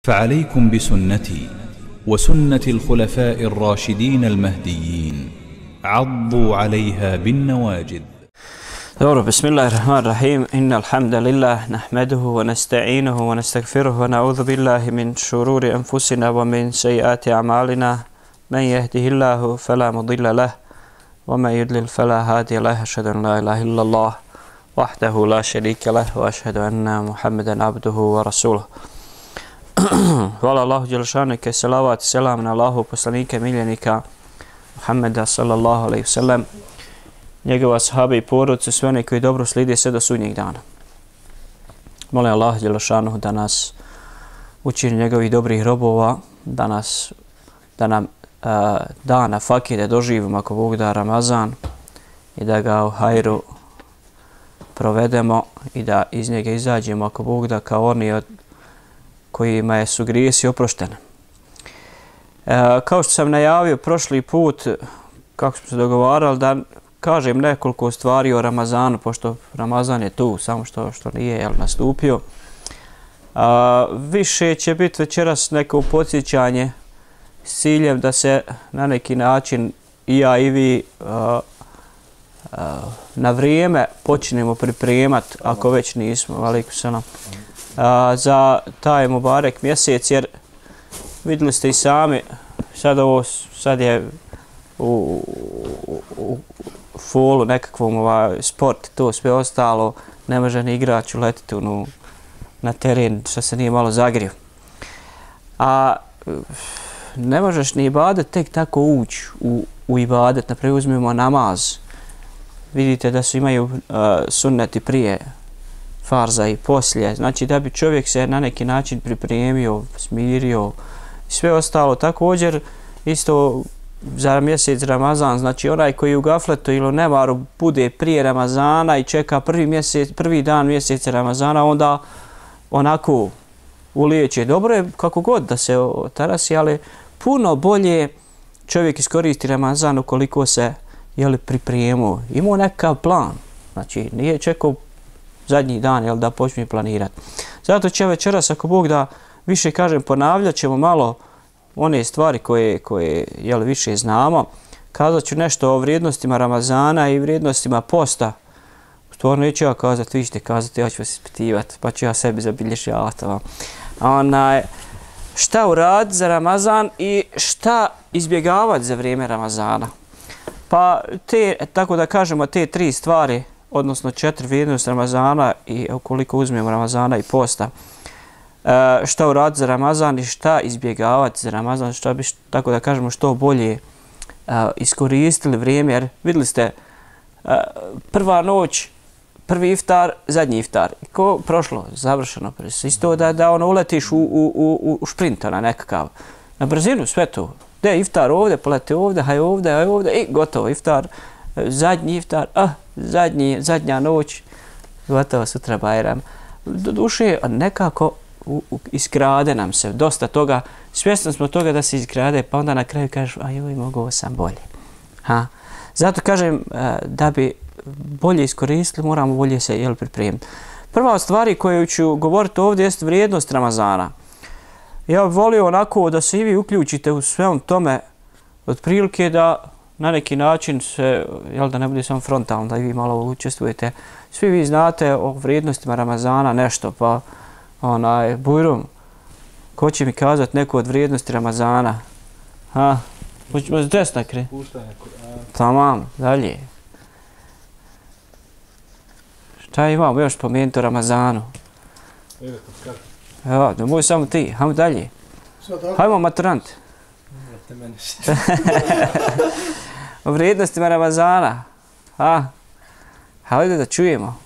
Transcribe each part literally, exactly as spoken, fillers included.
فعليكم بسنتي وسنة الخلفاء الراشدين المهديين عضوا عليها بالنواجذ. دور بسم الله الرحمن الرحيم. إن الحمد لله نحمده ونستعينه ونستغفره ونعوذ بالله من شرور أنفسنا ومن سيئات أعمالنا. من يهده الله فلا مضل له ومن يضلل فلا هادي له. أشهد أن لا إله إلا الله وحده لا شريك له وأشهد أن محمدا عبده ورسوله. Hvala Allahu Đelešanu i salavat i selam na Allahu poslanika miljenika Muhammeda sallallahu alaihi wasallam, njegova sahabe i porodice, sve one koji dobro slijede sve do sudnjeg dana. Molim Allahu Đelešanu da nas učini njegovih dobrih robova, da nas da nam uh, da na fakir da doživimo ako Bog da Ramazan i da ga u hajru provedemo i da iz njega izađemo ako Bog da kao oni od kojima je su grijesi oproštene. E, kao što sam najavio prošli put, kako smo se dogovarali, da kažem nekoliko stvari o Ramazanu, pošto Ramazan je tu, samo što, što nije jel, nastupio. A, više će biti večeras neko podsjećanje s ciljem da se na neki način i ja i vi a, a, na vrijeme počnemo pripremati, ako već nismo, alejkum selam, A, za taj Mubarek mjesec, jer vidjeli ste i sami, sad, ovo, sad je u, u, u folu nekakvom ovaj, sport, to sve ostalo, ne može ni igrač uletiti u, na teren, što se nije malo zagrio. A ne možeš ni ibadet tek tako ući u, u ibadet, naprijed uzmemo namaz. Vidite da su imaju uh, sunneti prije farza i poslije, znači da bi čovjek se na neki način pripremio, smirio i sve ostalo. Također isto za mjesec Ramazan, znači onaj koji u gafletu ili u nemaru bude prije Ramazana i čeka prvi, mjesec, prvi dan mjeseca Ramazana, onda onako ulijeće. Dobro je kako god da se tarasi, ali puno bolje čovjek iskoristi Ramazan ukoliko se jeli, pripremio, imao nekav plan, znači nije čekao zadnji dan, jel, da počne planirati. Zato će večeras, ako Bog da više kažem, ponavljat ćemo malo one stvari koje, koje jel, više znamo. Kazat ću nešto o vrijednostima Ramazana i vrijednostima posta. Stvarno neću ja kazati, vi ćete kazati, ja ću vas ispitivati, pa ću ja sebi zabilježavati. Onaj, šta uraditi za Ramazan i šta izbjegavati za vrijeme Ramazana. Pa te, tako da kažemo, te tri stvari, odnosno četiri vrijednosti Ramazana i ukoliko uzmemo Ramazana i posta, e, šta uraditi za Ramazan i šta izbjegavati za Ramazan, šta bi, tako da kažemo, što bolje e, iskoristili vrijeme, jer vidjeli ste, e, prva noć, prvi iftar, zadnji iftar, ko prošlo, završeno, isto da, da ono uletiš u, u, u, u šprinta na nekakav, na brzinu, sve to, gdje iftar ovdje, polete ovdje, haj ovdje, haj ovdje, i gotovo, iftar, zadnji iftar, ah, zadnji, zadnja noć, gotovo sutra Bajram. Do duše nekako u, u, iskrade nam se dosta toga, svjesni smo toga da se iskrade, pa onda na kraju kažeš, a joj, mogu sam bolje. Ha? Zato kažem, da bi bolje iskoristili, moramo bolje se jel, pripremiti. Prva od stvari koju ću govoriti ovdje jest vrijednost Ramazana. Ja bih volio onako da se i vi uključite u svem tome, otprilike da na neki način se, jel da ne bude samo frontalno, da i vi malo učestvujete. Svi vi znate o vrijednostima Ramazana nešto, pa onaj, Bujrum, ko će mi kazati neko od vrijednosti Ramazana? Ha? Hoćemo s desna kre? Puštanje. Tamam, dalje. Šta imamo još spomenuti o Ramazanu? Evo, da moj samo ti, hajmo dalje. Hajmo maturant. O vrijednostima Ramazana. Ha? Hajde da čujemo.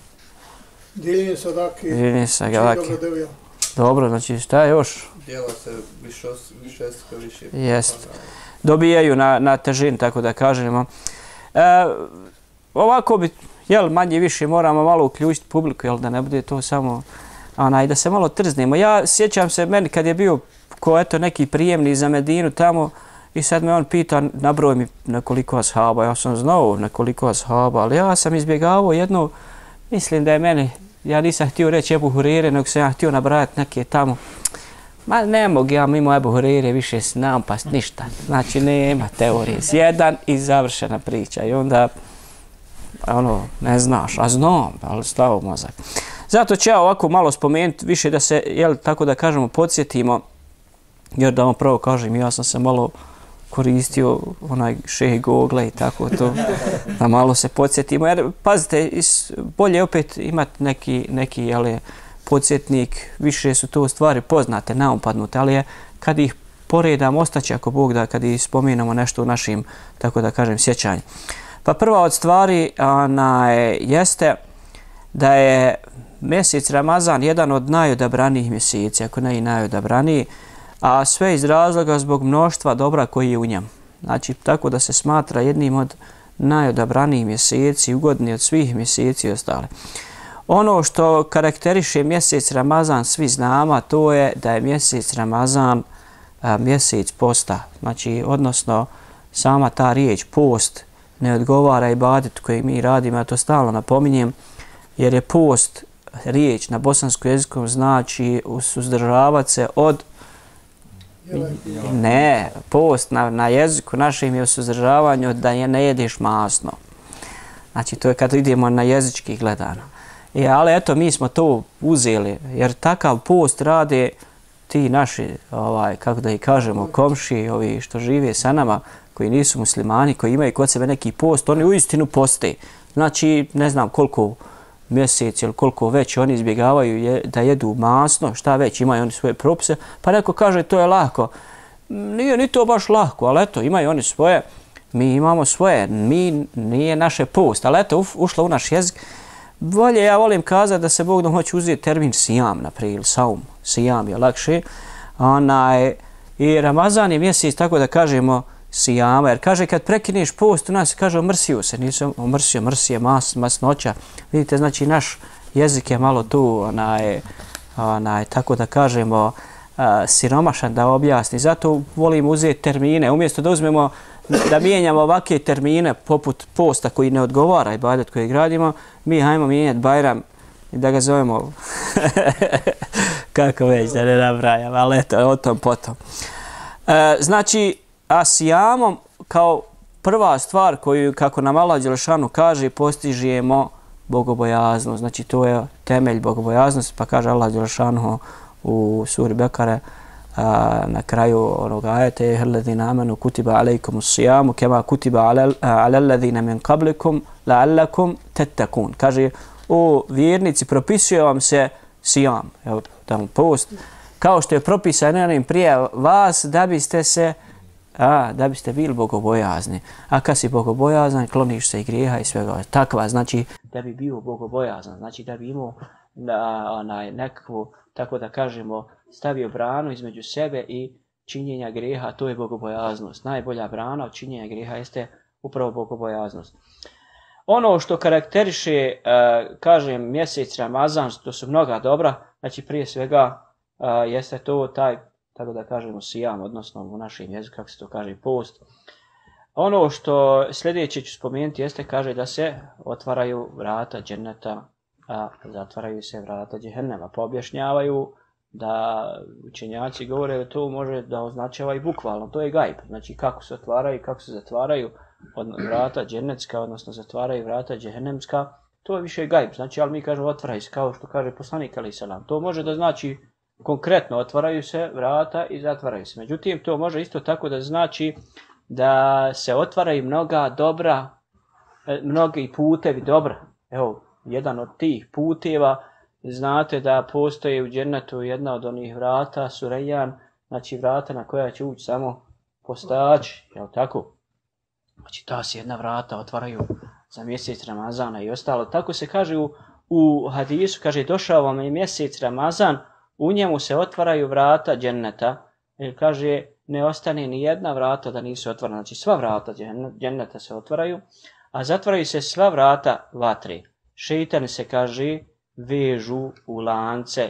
Dijeljenje sadake. Dijeljenje sadake. Dobro, znači šta je još? Dijela se više, više, više. Jest. Dobijaju na, na težini, tako da kažemo. E, ovako bi, jel, manje više moramo malo uključiti publiku, jel, da ne bude to samo, onaj, da se malo trznemo. Ja sjećam se meni kad je bio ko eto neki prijemni za Medinu tamo, i sad me on pita, nabroj mi nekoliko ashaba, ja sam znao nekoliko ashaba, ali ja sam izbjegavao jedno, mislim da je meni, ja nisam htio reći Ebu Hurere, nego sam ja htio nabrajati neke tamo Ma ne mogu ja mimo Ebu Hureyre više nampast ništa. Znači nema teorije. Sjedan i završena priča. I onda, ono, ne znaš, a znam, ali stavo mozak. Zato ću ja ovako malo spomenuti, više da se, jel, tako da kažemo, podsjetimo, jer da vam pravo kažem, ja sam se malo koristio onaj šeh Google i tako to, da malo se podsjetimo. Jer, pazite, bolje opet imati neki, neki jel, podsjetnik, više su to stvari poznate, naumpadnute, ali je, kad ih poredam, ostaće ako Bog da, kad ih spomenemo nešto u našim, tako da kažem, sjećanju. Pa prva od stvari ona, jeste da je mjesec Ramazan jedan od najodabranijih mjeseci, ako ne i najodabraniji, a sve iz razloga zbog mnoštva dobra koji je u njem. Znači, tako da se smatra jednim od najodabranijih mjeseci, ugodni od svih mjeseci i ostale. Ono što karakteriše mjesec Ramazan, svi znamo, to je da je mjesec Ramazan a, mjesec posta. Znači, odnosno, sama ta riječ post ne odgovara ibadetu koji mi radimo, ja to stalno napominjem, jer je post riječ na bosanskom jeziku znači suzdržavati se od ne, post na, na jeziku našim je suzdržavanje od da je ne jedeš masno. Znači to je kad idemo na jezički gledano. I, ali eto mi smo to uzeli jer takav post rade ti naši, ovaj, kako da i kažemo, komši, ovi što žive sa nama, koji nisu muslimani, koji imaju kod sebe neki post, oni uistinu poste. Znači ne znam koliko mjesec ili koliko već oni izbjegavaju je, da jedu masno, šta već, imaju oni svoje propise, pa neko kaže to je lako. Nije ni to baš lako, ali eto, imaju oni svoje, mi imamo svoje, mi nije naše post, ali eto, uf, ušlo u naš jezik. Bolje, ja volim kazati da se Bog da hoće uzeti termin sijam, naprijed, saum, sijam je lakše. Onaj, i Ramazan je mjesec, tako da kažemo, sijama, jer kaže kad prekineš post, u nas kaže omrsio se, nisam omrsio, mrsije, mas, masnoća. Vidite, znači naš jezik je malo tu, onaj, onaj, tako da kažemo, a, siromašan da objasni. Zato volim uzeti termine, umjesto da uzmemo, da mijenjamo ovakve termine poput posta koji ne odgovara ibadet koji gradimo, mi hajmo mijenjati Bajram i da ga zovemo kako već, da ne nabrajam, ali eto, o tom potom. E, znači, a sijamom kao prva stvar koju, kako nam Allah Đelešanu kaže, postižemo bogobojaznost. Znači, to je temelj bogobojaznosti, pa kaže Allah Đelešanu u suri Bekare a, na kraju onog ajeta alladhina amanu kutiba alaykum as-siyamu kama kutiba ala alladhina min qablikum la'allakum tattaqun. Kaže, o vjernici, propisuje vam se sijam, evo, tamo post, kao što je propisano onim prije vas da biste se a, da biste bili bogobojazni. A kad si bogobojazan, kloniš se i grijeha i svega. Takva, znači da bi bio bogobojazan, znači da bi imao na, onaj, nekakvu, tako da kažemo, stavio branu između sebe i činjenja grijeha, to je bogobojaznost. Najbolja brana od činjenja grijeha jeste upravo bogobojaznost. Ono što karakteriše, uh, kažem, mjesec Ramazan, to su mnoga dobra, znači prije svega uh, jeste to taj, tako da kažemo, sijam, odnosno u našem jeziku, kako se to kaže, post. Ono što sljedeće ću spomenuti jeste, kaže da se otvaraju vrata dženneta, a zatvaraju se vrata džehennema. Poobjašnjavaju da učenjaci govore da to može da označava i bukvalno, to je gajb. Znači kako se otvaraju i kako se zatvaraju od vrata džennetska, odnosno zatvaraju vrata džehennemska, to je više gajb. Znači, ali mi kažemo otvaraju se, kao što kaže poslanik alejhi selam. To može da znači konkretno otvaraju se vrata i zatvaraju se. Međutim, to može isto tako da znači da se otvaraju mnoga dobra, mnogi putevi dobra. Evo, jedan od tih puteva, znate da postoji u džennetu jedna od onih vrata, Surejjan, znači vrata na koja će ući samo postači, jel tako? Znači ta se jedna vrata otvaraju za mjesec Ramazana i ostalo. Tako se kaže u, u hadisu, kaže došao vam je mjesec Ramazan, u njemu se otvaraju vrata dženneta, jer kaže ne ostane ni jedna vrata da nisu otvorena, znači sva vrata dženneta se otvaraju, a zatvaraju se sva vrata vatre. Šejtani se, kaže, vežu u lance.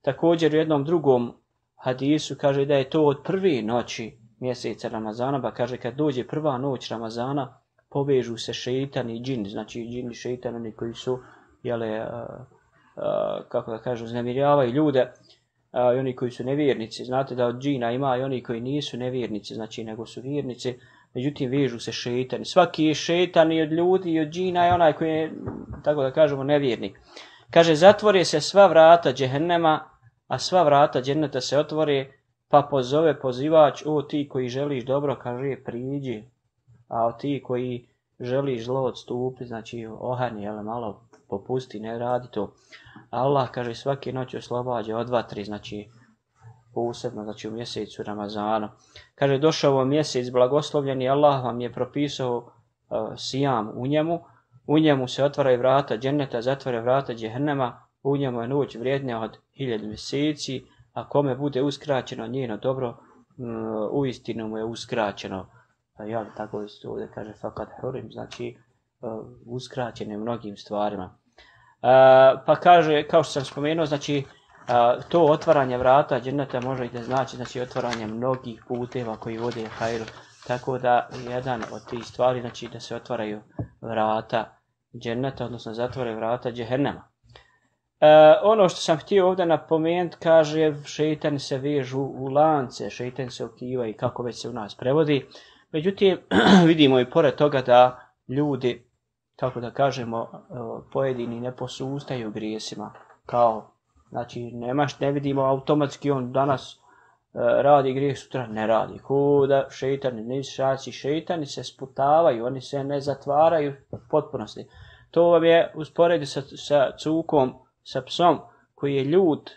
Također u jednom drugom hadisu kaže da je to od prve noći mjeseca Ramazana, pa kaže kad dođe prva noć Ramazana, povežu se šejtani i džini, znači džini šejtani koji su, jele, uh, uh, kako da kažu, znemiravaju ljude, a, i oni koji su nevjernici. Znate da od džina ima i oni koji nisu nevjernici, znači nego su vjernici, međutim vežu se šejtani. Svaki je šejtan i od ljudi i od džina je onaj koji je, tako da kažemo, nevjernik. Kaže, zatvore se sva vrata džehennema, a sva vrata dženneta se otvore, pa pozove pozivač, o ti koji želiš dobro, kaže, priđi, a o ti koji želiš zlo odstupi, znači ohani, jel, malo popusti, ne radi to. Allah, kaže, svake noći oslobađa od vatri, znači posebno, znači u mjesecu Ramazanu. Kaže, došao vam mjesec blagoslovljeni, Allah vam je propisao uh, sijam u njemu, u njemu se otvaraju vrata dženneta, zatvore vrata džehennema, u njemu je noć vrijednija od hiljadu mjeseci, a kome bude uskraćeno njeno dobro, um, uistinu mu je uskraćeno. Ja tako isto ovdje kaže fakat hurim, znači uh, uskraćen je mnogim stvarima. Uh, pa kaže, kao što sam spomenuo, znači uh, to otvaranje vrata dženneta može i da znači, znači otvaranje mnogih puteva koji vode hajru. Tako da jedan od tih stvari, znači da se otvaraju vrata dženneta, odnosno zatvore vrata džehennema. Uh, ono što sam htio ovdje napomenuti, kaže, šejtani se vežu u lance, šejtani se okivaju, kako već se u nas prevodi. Međutim, vidimo i pored toga da ljudi, kako da kažemo, pojedini ne posustaju grijesima. Kao, znači, nemaš, ne vidimo automatski on danas radi grijeh, sutra ne radi. Kuda šejtani, nisu šaci, šejtani se sputavaju, oni se ne zatvaraju u potpunosti. To vam je usporedi sa, sa cukom, sa psom koji je ljut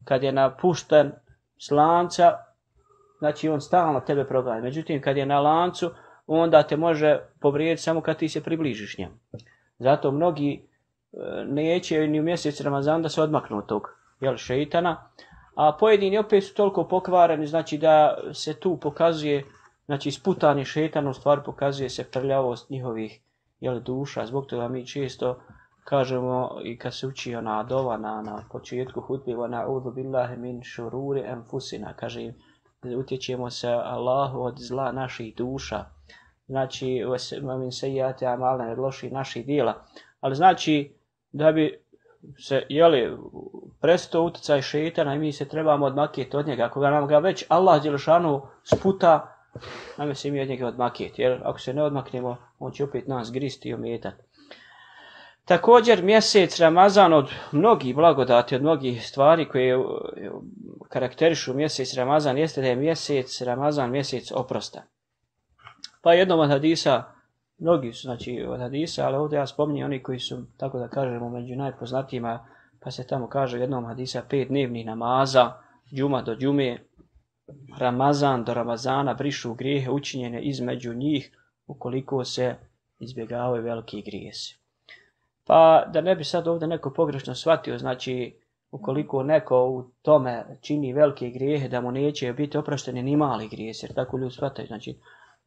kad je napušten s lanca, znači on stalno tebe proganja. Međutim, kad je na lancu, onda te može povrijediti samo kad ti se približiš njemu. Zato mnogi neće ni u mjesec Ramazan da se odmaknu od tog, jel, šejtana, a pojedini opet su toliko pokvareni, znači da se tu pokazuje, znači sputani šejtan, u stvari pokazuje se prljavost njihovih, jel, duša. Zbog toga mi često kažemo i kad se uči ona dova na, na početku hutbe, wa na'udhu billahi min šururi anfusina, kaže, utječemo se Allahu od zla naših duša, znači min sejjati amalna, od loših naših djela. Ali znači da bi se, jeli, prestao utjecaj šejtana i mi se trebamo odmakjeti od njega. Ako ga nam ga već Allah djelešanu sputa, nam se mi od njega odmakjeti, jer ako se ne odmaknemo, on će opet nas gristi i ometati. Također mjesec Ramazan od mnogih blagodati, od mnogih stvari koje karakterišu mjesec Ramazan jeste da je mjesec Ramazan mjesec oprosta. Pa jednom od hadisa, mnogi su znači od hadisa, ali ovdje ja spominjem oni koji su, tako da kažemo, među najpoznatijima, pa se tamo kaže u jednom hadisa pet dnevnih namaza, džuma do džume, Ramazan do Ramazana brišu grijehe učinjene između njih ukoliko se izbjegavaju veliki grijesi. Pa da ne bi sad ovdje neko pogrešno shvatio, znači ukoliko neko u tome čini velike grijehe, da mu neće biti oprošteni ni mali grijesi, jer tako ljudi shvataju, znači,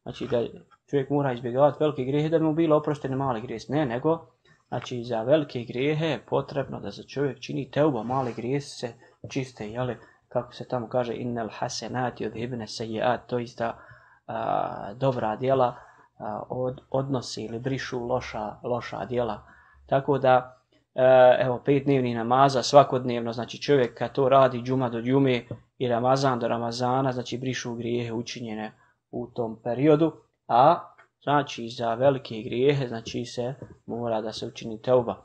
znači da čovjek mora izbjegavati velike grijehe da bi mu bilo oprošteni mali grijesi. Ne, nego znači za velike grijehe je potrebno da se čovjek čini teuba, mali grijesi se čiste, jeli, kako se tamo kaže, innal hasenati yudhibna sayyi'at, to ista a, dobra djela a, od, odnosi ili brišu loša, loša djela. Tako da, evo, pet dnevnih namaza svakodnevno, znači čovjek kad to radi džuma do džume i Ramazan do Ramazana, znači brišu grijehe učinjene u tom periodu, a znači za velike grijehe, znači se mora da se učini teuba.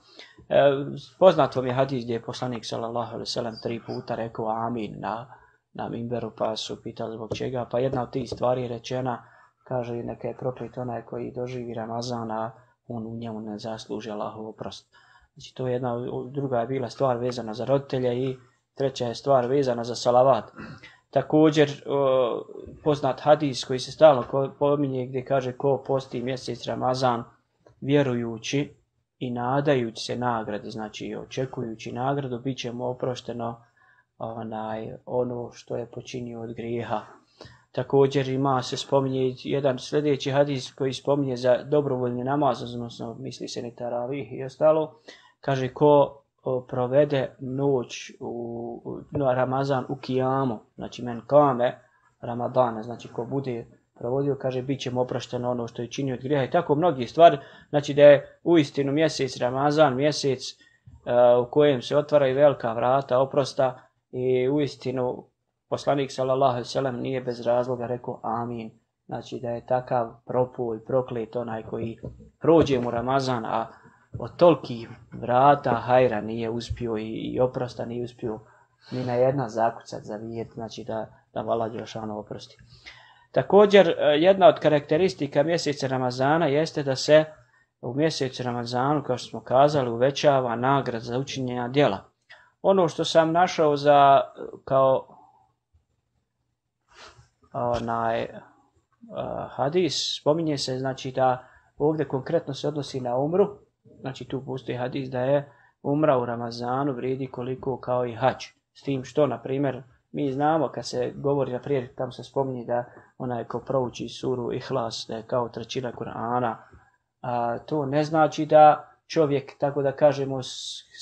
E, poznat vam je hadis gdje je poslanik sallallahu alejhi ve sellem tri puta rekao amin na, na minberu, pa su pitali zbog čega, pa jedna od tih stvari je rečena, kaže, neka je proklet onaj koji doživi Ramazana, on u njemu ne zasluži Allahov oprost. Znači to je jedna, druga je bila stvar vezana za roditelje i treća je stvar vezana za salavat. Također o, poznat hadis koji se stalno pominje gdje kaže ko posti mjesec Ramazan vjerujući i nadajući se nagradi, znači očekujući nagradu, bit će mu oprošteno onaj, ono što je počinio od grijeha. Također ima se spominje jedan sljedeći hadis koji spominje za dobrovoljni namaz, odnosno misli se ni taravih i ostalo, kaže ko provede noć u, u Ramazan u kijamu, znači men kame Ramadana, znači ko bude provodio, kaže bit će mu oprošteno ono što je činio od grijeha i tako mnogi stvari, znači da je uistinu mjesec Ramazan, mjesec uh, u kojem se otvaraju velika vrata oprosta I uistinu poslanik sallallahu alejhi ve sellem nije bez razloga rekao amin. Znači da je takav propuj, proklet onaj koji prođe mu Ramazan, a od tolikih vrata hajra nije uspio i, i oprosta nije uspio ni na jedna zakucat zavijeti, znači da, da Allah dželešanu oprosti. Također, jedna od karakteristika mjeseca Ramazana jeste da se u mjesecu Ramazanu, kao što smo kazali, uvećava nagrada za učinjena djela. Ono što sam našao za kao onaj uh, hadis, spominje se znači da ovdje konkretno se odnosi na umru, znači tu postoji hadis da je umra u Ramazanu vrijedi koliko kao i hadž. S tim što, na primjer, mi znamo kad se govori, na primjer, tamo se spominje da onaj ko prouči suru Ihlas, da je kao trećina Kur'ana, a to ne znači da čovjek, tako da kažemo,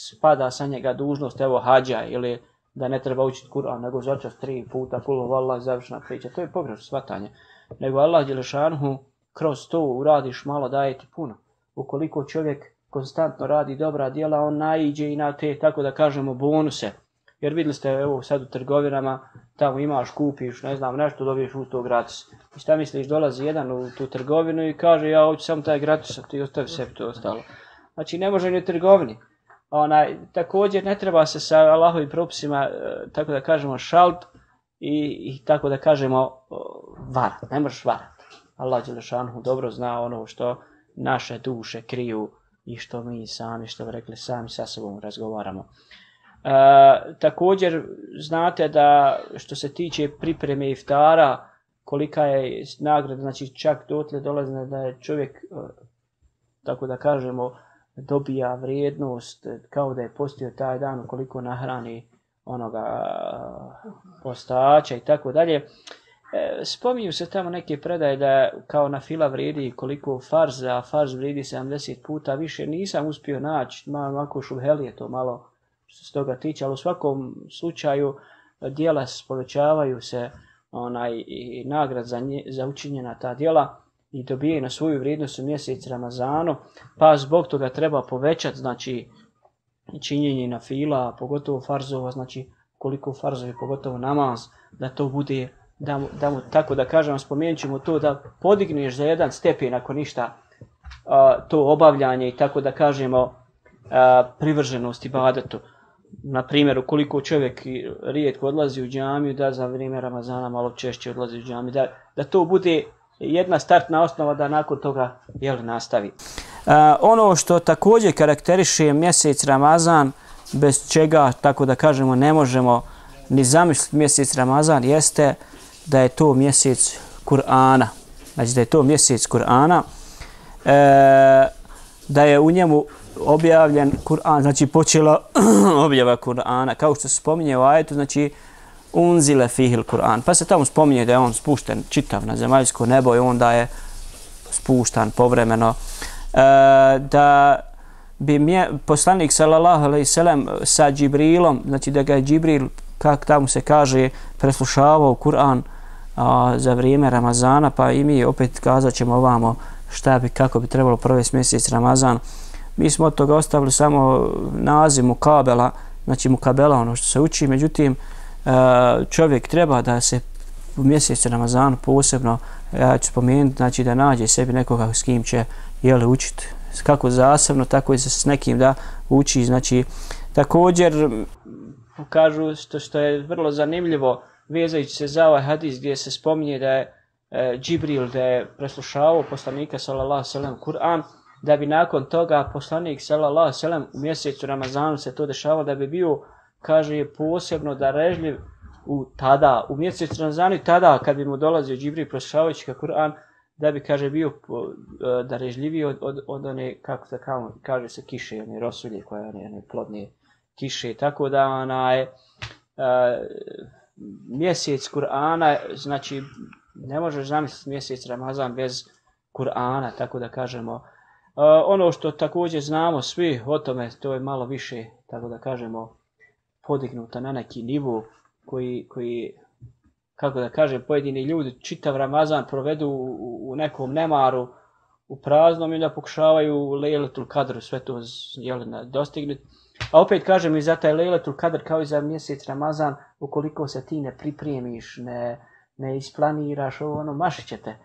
spada sa njega dužnost, evo hađa, ili da ne treba učiti Kur'an, nego začas tri puta, kulu vallah, završna priča. To je pogrešno shvatanje. Nego Allah dželešanhu kroz to uradiš malo, daje ti puno. Ukoliko čovjek konstantno radi dobra djela, on naiđe i na te, tako da kažemo, bonuse. Jer vidjeli ste, evo sad u trgovinama, tamo imaš, kupiš, ne znam, nešto, dobiješ u to gratis. I šta misliš, dolazi jedan u tu trgovinu i kaže, ja hoću samo taj gratis, a ti ostavi sebi to ostalo. Znači, ne može ni u trgovini. Onaj, također, ne treba se sa Allahovim propisima, tako da kažemo, šalp i, i tako da kažemo, varat. Ne možeš varat. Allah dželešanhu dobro zna ono što naše duše kriju i što mi sami, što bi rekli, sami sa sobom razgovaramo. E, također znate da što se tiče pripreme iftara, kolika je nagrada, znači čak dotle dolazi da je čovjek, tako da kažemo, dobija vrijednost kao da je postio taj dan ukoliko nahrani onoga postača i tako dalje. E, spominju se tamo neke predaje da kao na fila vrijedi koliko farz, a farz vrijedi sedamdeset puta više. Nisam uspio naći, malo ovako šubhelije to malo što se toga tiče, ali u svakom slučaju djela povećavaju se onaj, i nagrad za, nje, za učinjena ta djela i dobije na svoju vrijednost u mjesec Ramazanu, pa zbog toga treba povećati znači činjenje na fila, pogotovo farzova, znači koliko farzovi, pogotovo namaz, da to bude, da mu, da mu tako da kažem, spomenut ćemo to da podigneš za jedan stepen ako ništa a, to obavljanje i tako da kažemo a, privrženost ibadetu. Na primjer, ukoliko čovjek rijetko odlazi u džamiju, da za vrijeme Ramazana malo češće odlazi u džamiju, da, da to bude jedna startna osnova da nakon toga jel, nastavi. Uh, ono što također karakteriše mjesec Ramazan, bez čega, tako da kažemo, ne možemo ni zamisliti mjesec Ramazan, jeste da je to mjesec Kur'ana. Znači da je to mjesec Kur'ana, e, da je u njemu objavljen Kur'an, znači počela objava Kur'ana, kao što se spominje u ajetu, znači unzile fihil Kur'an. Pa se tamo spominje da je on spušten čitav na zemaljsko nebo i onda je spuštan povremeno. E, da bi mje, poslanik sallallahu alejhi ve sellem sa Džibrilom, znači da ga je Džibril, kako tamo se kaže, preslušavao Kur'an a, za vrijeme Ramazana, pa i mi opet kazat ćemo ovamo šta bi, kako bi trebalo provesti mjesec Ramazan. Mi smo od toga ostavili samo naziv mukabela, znači mukabela ono što se uči, međutim čovjek treba da se u mjesecu Ramazanu posebno, ja ću spomenuti, znači da nađe sebi nekoga s kim će jeli, učiti, kako zasebno, tako i s nekim da uči. Znači, također, kažu što, što je vrlo zanimljivo, vezajući se za ovaj hadis gdje se spominje da je e, Džibril da je preslušavao poslanika sallallahu alejhi ve sellem Kur'an, da bi nakon toga poslanik sallallahu alejhi ve sellem u mjesecu Ramazanu se to dešavalo, da bi bio, kaže, posebno darežljiv u tada, u mjesecu Ramazanu i tada kad bi mu dolazio Džibril preslušavajući Kur'an, da bi, kaže, bio darežljiviji od, od, od one, kako se kaže se, kiše, one rosulje koje one, one plodne kiše. Tako da onaj uh, mjesec Kur'ana, znači ne možeš zamisliti mjesec Ramazan bez Kur'ana, tako da kažemo. Uh, ono što također znamo svi o tome, to je malo više, tako da kažemo, podignuta na neki nivo koji, koji kako da kažem, pojedini ljudi čitav Ramazan provedu u, u nekom nemaru, u praznom i da pokušavaju Lejletul Kadr sve to dostignuti. A opet kažem i za taj Lejletul Kadr kao i za mjesec Ramazan ukoliko se ti ne pripremiš, ne, ne isplaniraš, ovo, ono, mašit ćete.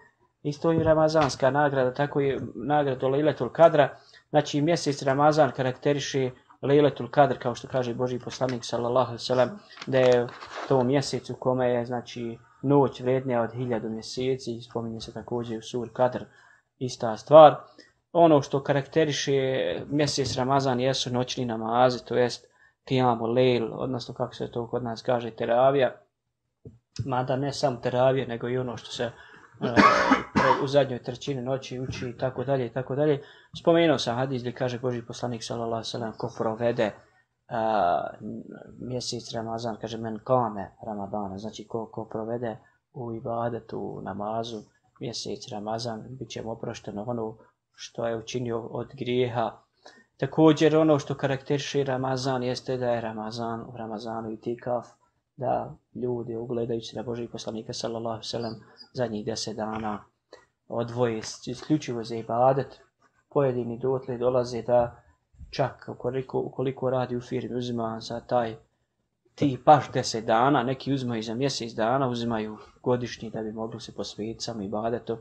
Isto i ramazanska nagrada, tako i nagrada Lejletul Kadra. Znači mjesec Ramazan karakteriše Lejletul Kadr, kao što kaže Božji poslanik sallallahu alejhi ve sellem, da je to mjesec u kome je znači noć vrednija od hiljadu mjeseci, spominje se također u suri Kadr, ista stvar. Ono što karakteriše mjesec Ramazan jesu noćni namazi, to jest Qiyamul Lejl, odnosno kako se to kod nas kaže teravija, mada ne samo teravija, nego i ono što se u zadnjoj trećini noći uči i tako dalje i tako dalje. Spomenuo sam hadis gdje kaže Božji poslanik sallallahu alejhi ve sellem ko provede uh, mjesec Ramazan, kaže men kame Ramadana, znači ko, ko provede u ibadetu, u namazu mjesec Ramazan, bit će mu oprošteno ono što je učinio od grijeha. Također ono što karakteriše Ramazan jeste da je Ramazan u Ramazanu itikaf, da ljudi ugledajući na Božjeg poslanika sallallahu alejhi ve sellem zadnjih deset dana odvoje isključivo za ibadet. Pojedini dotle dolaze da čak ukoliko, ukoliko radi u firmi uzima za taj ti baš deset dana, neki uzimaju za mjesec dana, uzimaju godišnji da bi mogli se posvetiti samo ibadetu,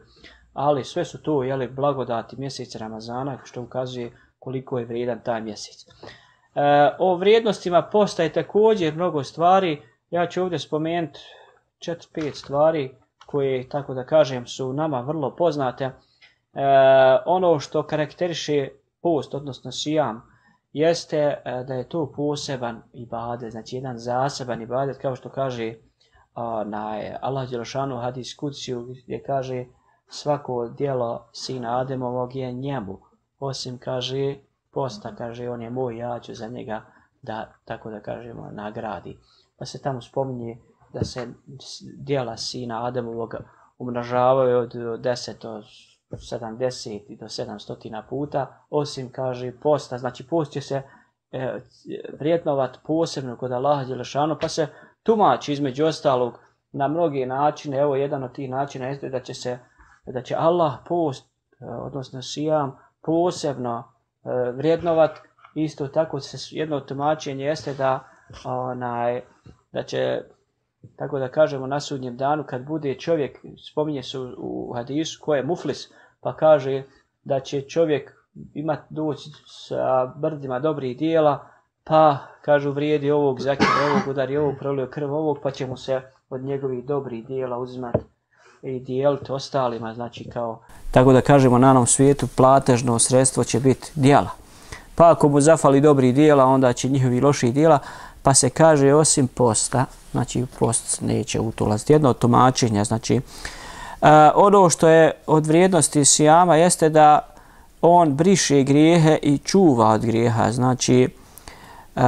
ali sve su to jeli, blagodati mjeseca Ramazana što ukazuje koliko je vrijedan taj mjesec. E, o vrijednostima posta je također mnogo stvari. Ja ću ovdje spomenuti četiri pet stvari koje, tako da kažem, su nama vrlo poznate. E, ono što karakteriše post, odnosno sijam, jeste e, da je to poseban ibadet, znači jedan zaseban ibadet, kao što kaže na Allah dželešanu hadis kudsiju, gdje kaže svako djelo sina Ademovog je njemu, osim kaže posta, kaže on je moj, ja ću za njega da, tako da kažemo, nagradi. Pa se tamo spominje da se djela sina Ademovog umnožavaju od deset do sedamdeset i do sedamsto puta, osim, kaže, posta. Znači, post će se e, vrijednovat posebno kod Allaha dželešanu, pa se tumači između ostalog na mnogi načine. Evo, jedan od tih načina jeste da će se, da će Allah post, odnosno sijam, posebno e, vrijednovat. Isto tako se jedno tumačenje jeste da onaj, da će, tako da kažemo, na sudnjem danu kad bude čovjek, spominje se u, u hadisu ko je muflis, pa kaže da će čovjek imati doći sa brdima dobrih dijela, pa kažu vrijedi ovog, zakida ovog, udari ovog, prolio krv ovog, pa će mu se od njegovih dobrih dijela uzimati i dijeliti ostalima, znači kao, tako da kažemo, na onom svijetu platežno sredstvo će biti dijela. Pa ako mu zafali dobrih dijela, onda će njihovi loših dijela, pa se kaže osim posta, znači post neće u to ulaziti. Jedno od tumačenja, znači uh, ono što je od vrijednosti sijama jeste da on briše grijehe i čuva od grijeha. Znači uh,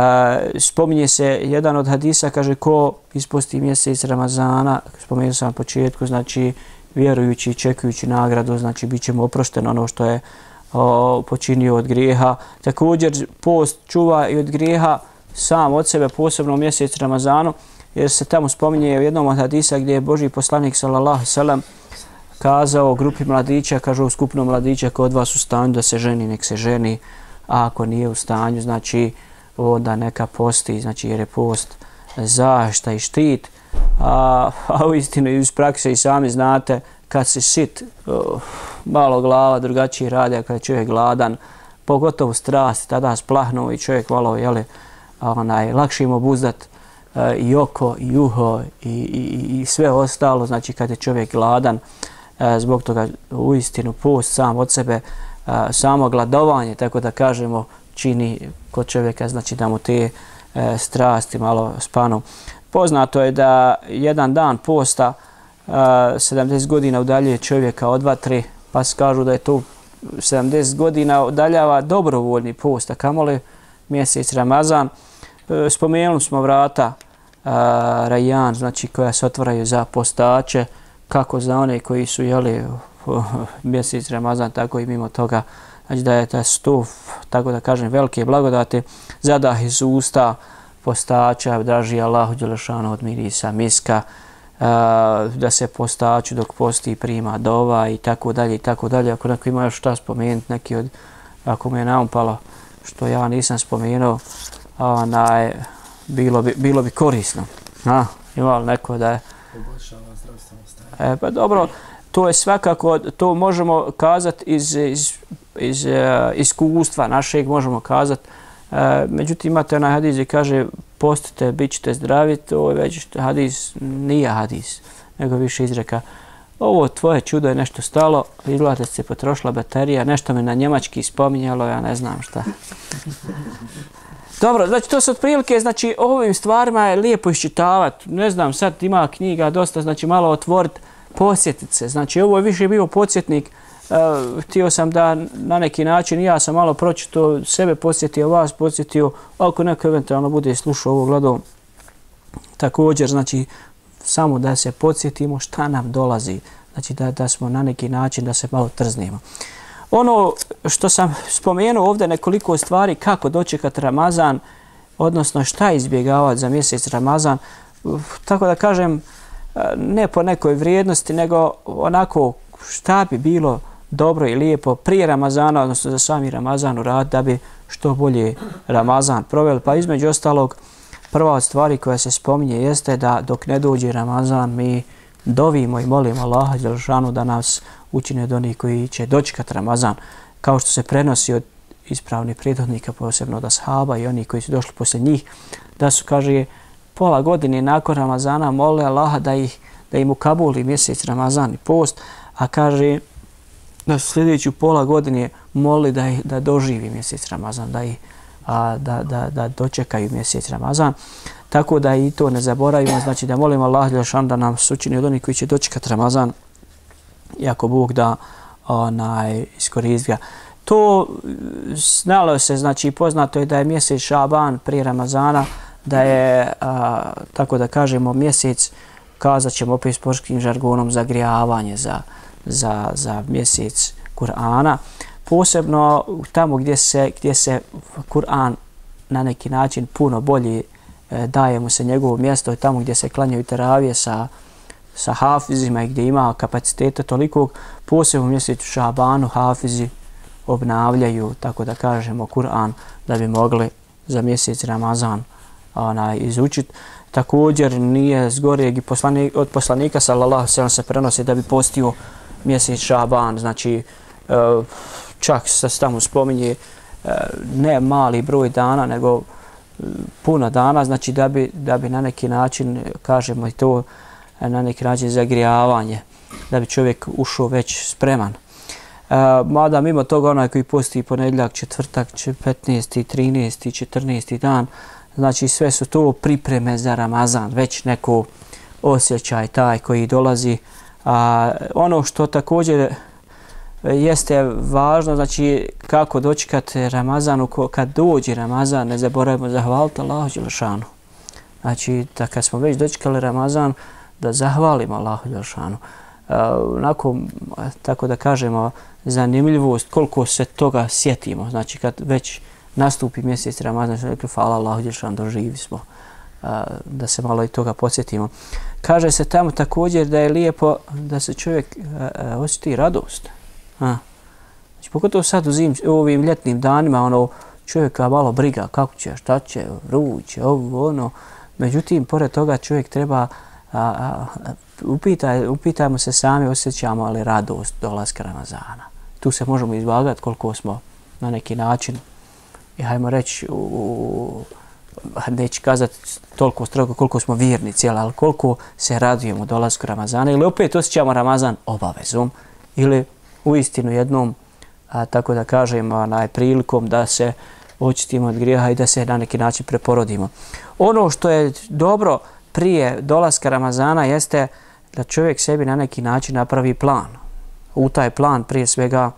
spominje se jedan od hadisa, kaže ko isposti mjesec Ramazana, spomenuo sam na početku, znači vjerujući i čekujući nagradu, znači bit će mu oprošteno ono što je o, počinio od grijeha. Također post čuva i od grijeha sam od sebe, posebno u mjesec Ramazanu, jer se tamo spominje u jednom od hadisa gdje je Božji poslanik sallallahu alejhi ve sellem kazao grupi mladića, kaže u skupnom mladića ko od vas u stanju da se ženi, nek se ženi, a ako nije u stanju, znači onda neka posti, znači jer je post zaštita i štit, a, a u istinu iz prakse i sami znate kad si sit, uh, malo glava drugačije radi, a kad je čovjek gladan, pogotovo strasti, tada splahnu i čovjek malo, jeli, onaj, lakše im obuzdat uh, i oko, i uho, i, i, i sve ostalo, znači kad je čovjek gladan, uh, zbog toga u istinu post sam od sebe, uh, samo gladovanje, tako da kažemo, čini kod čovjeka, znači da mu te uh, strasti malo spanu. Poznato je da jedan dan posta uh, sedamdeset godina udaljuje čovjeka od vatre, pa se kažu da je to sedamdeset godina udaljava dobrovoljni post, a kamoli mjesec Ramazan. Spomenuli smo vrata uh, Rajan, znači koja se otvaraju za postače, kako za one koji su jeli uh, mjesec Ramazan, tako i mimo toga. Znači da je ta stuf, tako da kažem, velike blagodate, zadah iz usta postača, draži Allahu dželešanu od mirisa miska, uh, da se postaču dok posti prima dova i tako dalje i tako dalje. Ako neko ima još šta spomenuti, neki od, ako me je naumpalo što ja nisam spomenuo, onaj, bilo bi, bilo bi korisno. A, ima li neko da je... Poboljšava zdravstveno stanje. E, pa dobro, to je svakako, to možemo kazati iz, iz, iz uh, iskustva našeg, možemo kazati. Uh, međutim, imate onaj hadis gdje kaže postite, bit ćete zdravi, to je već hadis, nije hadis, nego više izreka. Ovo tvoje čudo je nešto stalo, izgleda da se potrošila baterija, nešto me na njemački spominjalo, ja ne znam šta. Dobro, znači to su otprilike, znači ovim stvarima je lijepo iščitavati. Ne znam, sad ima knjiga dosta, znači malo otvoriti, posjetiti se. Znači ovo je više bio podsjetnik. Uh, htio sam da na neki način ja sam malo pročito, sebe posjetio, vas posjetio, ako neko eventualno bude slušao ovo gledao. Također, znači, samo da se podsjetimo šta nam dolazi. Znači da, da smo na neki način, da se malo trznemo. Ono što sam spomenuo ovdje nekoliko stvari kako dočekati Ramazan, odnosno šta izbjegavati za mjesec Ramazan, tako da kažem, ne po nekoj vrijednosti, nego onako šta bi bilo dobro i lijepo prije Ramazana, odnosno za sami Ramazan uraditi da bi što bolje Ramazan proveli. Pa između ostalog, prva od stvari koja se spominje jeste da dok ne dođe Ramazan mi dovimo i molimo Allaha dželešanu da nas učine od onih koji će dočekati Ramazan, kao što se prenosi od ispravnih prethodnika, posebno od ashaba i oni koji su došli poslije njih, da su, kaže, pola godine nakon Ramazana mole Allaha da, ih, da im ukabuli mjesec Ramazan i post, a kaže da su sljedeću pola godine moli da, ih, da doživi mjesec Ramazan, da, ih, a, da, da, da dočekaju mjesec Ramazan. Tako da i to ne zaboravimo, znači da molimo Allaha dželešanu da nam učini od onih koji će dočekati Ramazan, i ako Bog da onaj iskoristi ga. To znalo se, znači poznato je da je mjesec Šaban prije Ramazana, da je, a, tako da kažemo, mjesec, kazat ćemo opet sportskim žargonom, zagrijavanje za, za, za mjesec Kur'ana. Posebno tamo gdje se, gdje se Kur'an na neki način puno bolje e, daje mu se njegovo mjesto, i tamo gdje se klanjaju teravije sa sa hafizima i gdje ima kapaciteta tolikog, posebno u mjesecu Šabanu hafizi obnavljaju, tako da kažemo, Kur'an da bi mogli za mjesec Ramazan onaj, izučiti. Također nije zgorijeg i poslanik, od poslanika sallallahu alejhi ve sellem se prenosi da bi postio mjesec Šaban, znači čak se tamo spominje ne mali broj dana, nego puno dana, znači da bi, da bi na neki način, kažemo i to, na neki način zagrijavanje, da bi čovjek ušao već spreman. E, mada mimo toga onaj koji posti ponedjeljak, četvrtak, petnaesti, trinaesti, četrnaesti dan, znači sve su to pripreme za Ramazan, već neko osjećaj taj koji dolazi. A, ono što također jeste važno, znači kako dočekati Ramazan, kad dođe Ramazan, ne zaboravimo zahvaliti Allahu dželešanu. Znači da kad smo već dočekali Ramazan, da zahvalimo Allahu dželešanu. Uh, onako, tako da kažemo, zanimljivost koliko se toga sjetimo. Znači kad već nastupi mjesec Ramazan, što rekli, hvala Allahu dželešanu, doživi smo. Uh, da se malo i toga podsjetimo. Kaže se tamo također da je lijepo da se čovjek uh, uh, osjeti radost. A. Znači, pogotovo sad u, zim, u ovim ljetnim danima, ono, čovjeka malo briga kako će, šta će, vruće, ovo, ono. Međutim, pored toga čovjek treba A, a, upitaj, upitajmo se sami, osjećamo ali radost dolaska Ramazana. Tu se možemo izvagati koliko smo na neki način, i hajmo reći, u, u, neću kazati toliko strogo koliko smo vjernici, ali koliko se radujemo dolasku Ramazana, ili opet osjećamo Ramazan obavezom, ili u istinu jednom, a, tako da kažemo, onaj, prilikom da se očistimo od grijeha i da se na neki način preporodimo. Ono što je dobro prije dolaska Ramazana jeste da čovjek sebi na neki način napravi plan. U taj plan prije svega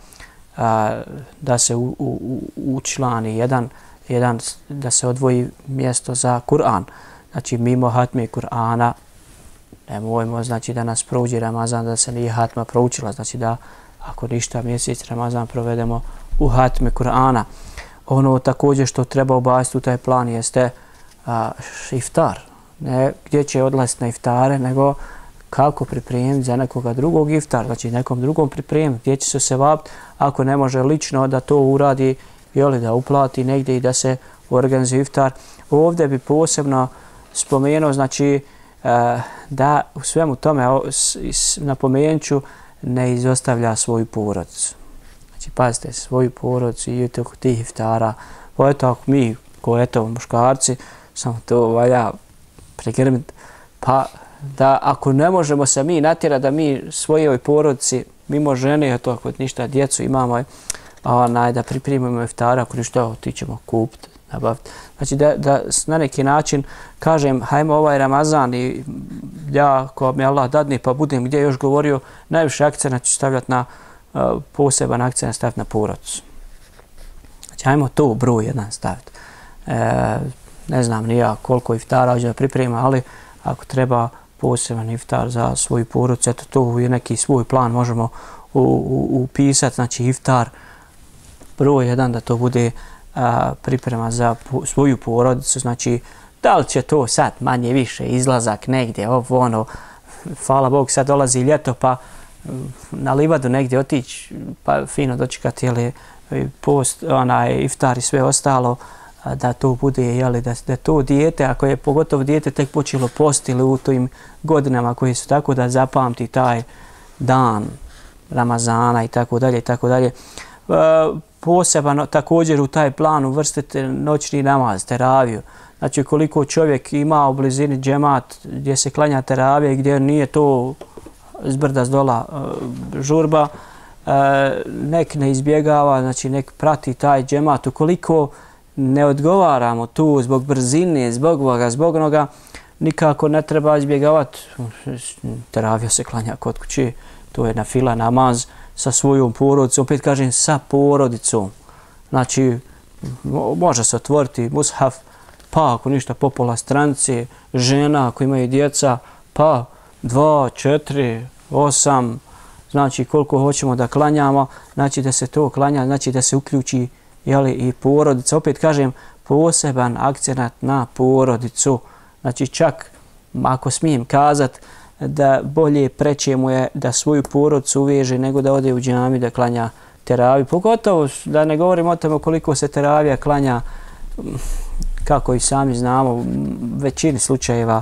a, da se u, u, učlani jedan, jedan, da se odvoji mjesto za Kur'an. Znači mimo hatme Kur'ana nemojmo, znači da nas prođe Ramazan, da se nije hatma proučila, znači da ako ništa mjesec Ramazan provedemo u hatme Kur'ana. Ono također što treba ubaciti u taj plan jeste a, iftar. Ne gdje će odlaziti na iftare, nego kako pripremiti za nekoga drugog iftar, znači nekom drugom pripremiti, gdje će se se vapiti, ako ne može lično da to uradi, jeli, da uplati negdje i da se organizuje iftar. Ovdje bi posebno spomenuo, znači da u svemu tome napomenut ću ne izostavlja svoju porodicu. Znači, pazite, svoju porodicu i oko tih iftara. Pa eto, ako mi, ko eto, muškarci, samo to valja pregrmiti, pa da ako ne možemo se mi natjerati da mi svojoj porodici, mimo žene, eto, ako ništa, djecu imamo, onaj, da pripremimo iftara, ako ništa, ti ćemo kupiti, nabaviti. Znači, da, da na neki način kažem, hajmo ovaj Ramazan i ja, ko mi Allah dadne, pa budem gdje još govorio, najviše akcenta ću stavljati na uh, poseban akcent staviti na porodicu. Znači, hajmo to u broj jedan staviti. E, ne znam ni ja koliko iftara hoću da priprema, ali ako treba poseban iftar za svoju porodicu, eto to je neki svoj plan možemo upisati, znači iftar broj jedan da to bude a, priprema za po, svoju porodicu, znači da li će to sad manje više izlazak negdje, ovo ono, hvala Bog sad dolazi ljeto pa na livadu negdje otići pa fino dočekati jeli, post, onaj iftar i sve ostalo, da to bude, jeli, da, da to dijete, ako je pogotovo dijete tek počelo post ili u tim godinama koje su tako da zapamti taj dan Ramazana i tako dalje i tako dalje. Posebno također u taj plan uvrstite noćni namaz, teraviju. Znači koliko čovjek ima u blizini džemat gdje se klanja teravija i gdje nije to zbrda zdola žurba, nek ne izbjegava, znači nek prati taj džemat. Ukoliko ne odgovaramo tu zbog brzine, zbog ovoga, zbog onoga, nikako ne treba izbjegavati. Teravija se klanja kod kuće, to je na fila namaz sa svojom porodicom, opet kažem sa porodicom. Znači, može se otvoriti mushaf, pa ako ništa po pola stranice, žena ako imaju djeca, pa dva, četiri, osam, znači koliko hoćemo da klanjamo, znači da se to klanja, znači da se uključi jeli, i porodica. Opet kažem, poseban akcenat na porodicu. Znači čak, ako smijem kazat, da bolje preće mu je da svoju porodicu uveže nego da ode u džami da klanja teraviju. Pogotovo da ne govorim o tome koliko se teravija klanja, kako i sami znamo, u većini slučajeva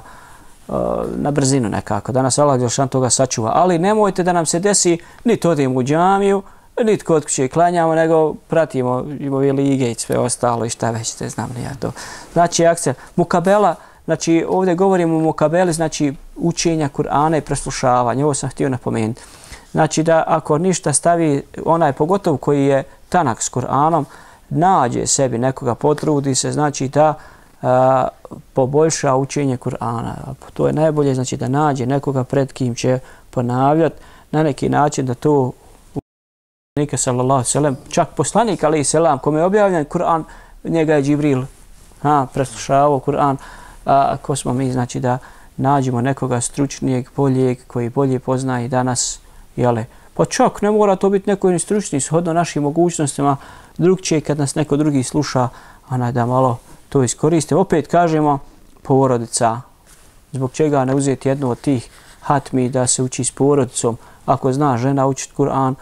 na brzinu nekako. Danas Allah Đelšan toga sačuva. Ali nemojte da nam se desi niti odemo u džamiju, niti kod kuće klanjamo, nego pratimo ove lige i sve ostalo i šta već te znam ni ja to. Znači, akcija mukabela, znači ovdje govorimo o mukabeli, znači učenja Kur'ana i preslušavanja. Ovo sam htio napomenuti. Znači da ako ništa stavi onaj pogotovo koji je tanak s Kur'anom, nađe sebi nekoga, potrudi se, znači da a, poboljša učenje Kur'ana. To je najbolje, znači da nađe nekoga pred kim će ponavljati na neki način da to poslanika sallallahu alejhi ve sellem, čak poslanik alejhi selam kome je objavljen Kur'an, njega je Džibril ha, preslušavao Kur'an. A ko smo mi, znači da nađemo nekoga stručnijeg, boljeg, koji bolje poznaje danas, jele. Pa čak ne mora to biti neko stručni, shodno našim mogućnostima, drugčije kad nas neko drugi sluša, onaj da malo to iskoriste. Opet kažemo, porodica, zbog čega ne uzeti jednu od tih hatmi da se uči s porodicom, ako zna žena učiti Kur'an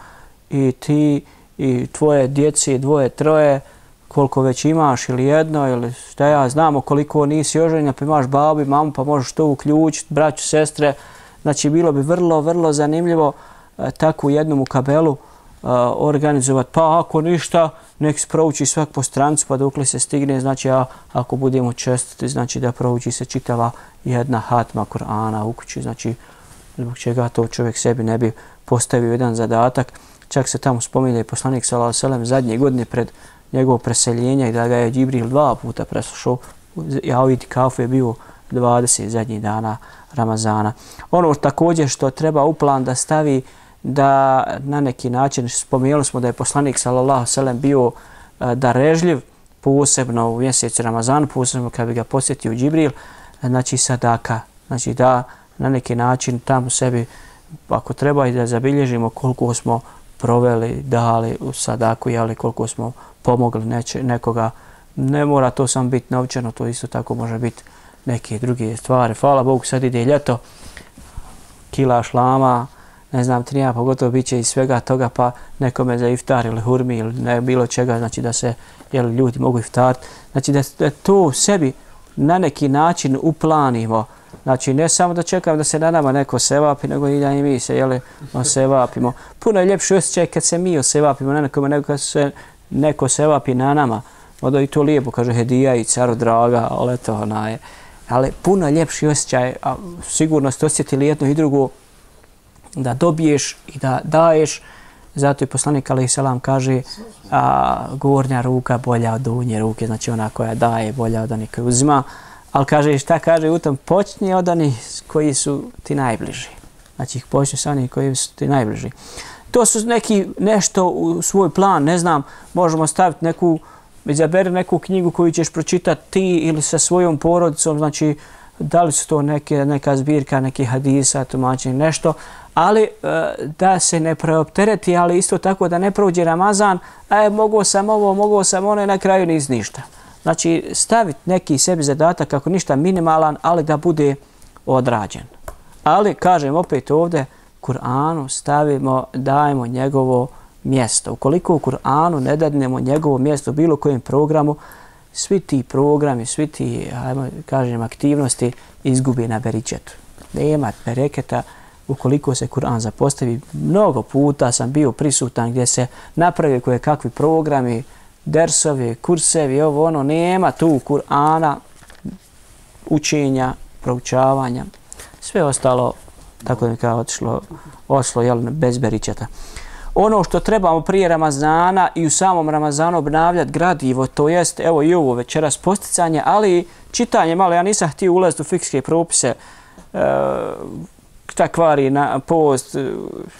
i ti i tvoje djece, dvoje, troje, koliko već imaš ili jedno ili šta ja znamo koliko nisi oženjen, pa imaš babu i mamu pa možeš to uključiti, braću, sestre. Znači bilo bi vrlo, vrlo zanimljivo e, takvu jednu mukabelu e, organizovati. Pa ako ništa, nek se prouči svak po strancu pa dokle se stigne. Znači a, ako budemo čestiti, znači da prouči se čitava jedna hatma Kur'ana u kući. Znači zbog čega to čovjek sebi ne bi postavio jedan zadatak. Čak se tamo spominje i poslanik sallallahu alejhi ve sellem zadnje godine pred njegovo preseljenja i da ga je Džibril dva puta preslušao. Ja u itikafu je bio dvadeset zadnjih dana Ramazana. Ono također što treba u plan da stavi da na neki način, spomenuli smo da je poslanik sallallahu alejhi ve sellem bio darežljiv, posebno u mjesecu Ramazanu, posebno kad bi ga posjetio Džibril, znači sadaka. Znači da na neki način tamo sebi, ako treba i da zabilježimo koliko smo proveli, dali u sadaku, jeli koliko smo pomogli neče, nekoga. Ne mora to samo biti novčano, to isto tako može biti neke druge stvari. Hvala Bogu, sad ide ljeto, kila šlama, ne znam ti nija, pogotovo bit će i svega toga, pa nekome za iftar ili hurmi ili ne, bilo čega, znači da se jeli, ljudi mogu iftariti. Znači da, da to sebi na neki način uplanimo, Znači, ne samo da čekam da se na nama neko sevapi, nego i da i mi se, jeli, osevapimo. Puno je ljepši osjećaj kad se mi osevapimo na nekome, nego kad se neko sevapi na nama. Onda i to lijepo, kaže, hedija i caro draga, ali eto, ona je. Ali puno je ljepši osjećaj, a sigurno ste osjetili jedno i drugo, da dobiješ i da daješ. Zato i poslanik alejhi selam kaže a, gornja ruka bolja od donje ruke, znači ona koja daje bolja od onih koja uzima. Ali kaže, šta kaže u tom? Počni od onih koji su ti najbliži. Znači počni sa onih koji su ti najbliži. To su neki nešto u svoj plan, ne znam, možemo staviti neku, izaberi neku knjigu koju ćeš pročitati ti ili sa svojom porodicom, znači da li su to neke, neka zbirka, neki hadisa, tumačenje, nešto, ali e, da se ne preoptereti, ali isto tako da ne prođe Ramazan, a mogao sam ovo, mogao sam ono i na kraju niz ništa. Znači staviti neki sebi zadatak kako ništa minimalan, ali da bude odrađen. Ali, kažem opet ovdje, Kur'anu stavimo, dajemo njegovo mjesto. Ukoliko u Kur'anu ne dadnemo njegovo mjesto u bilo kojem programu, svi ti programi, svi ti, ajmo kažem, aktivnosti izgubi na beričetu. Nema bereketa ukoliko se Kur'an zapostavi. Mnogo puta sam bio prisutan gdje se napravio koje kakvi programi, dersovi, kursevi, ovo ono, nema tu Kur'ana, učenja, proučavanja. Sve ostalo, tako da mi kao otišlo, oslo, jel, bez beričeta. Ono što trebamo prije Ramazana i u samom Ramazanu obnavljati gradivo, to jest, evo i ovo večeras posticanje, ali čitanje malo, ja nisam htio ulaziti u fikske propise, e, šta kvari na post,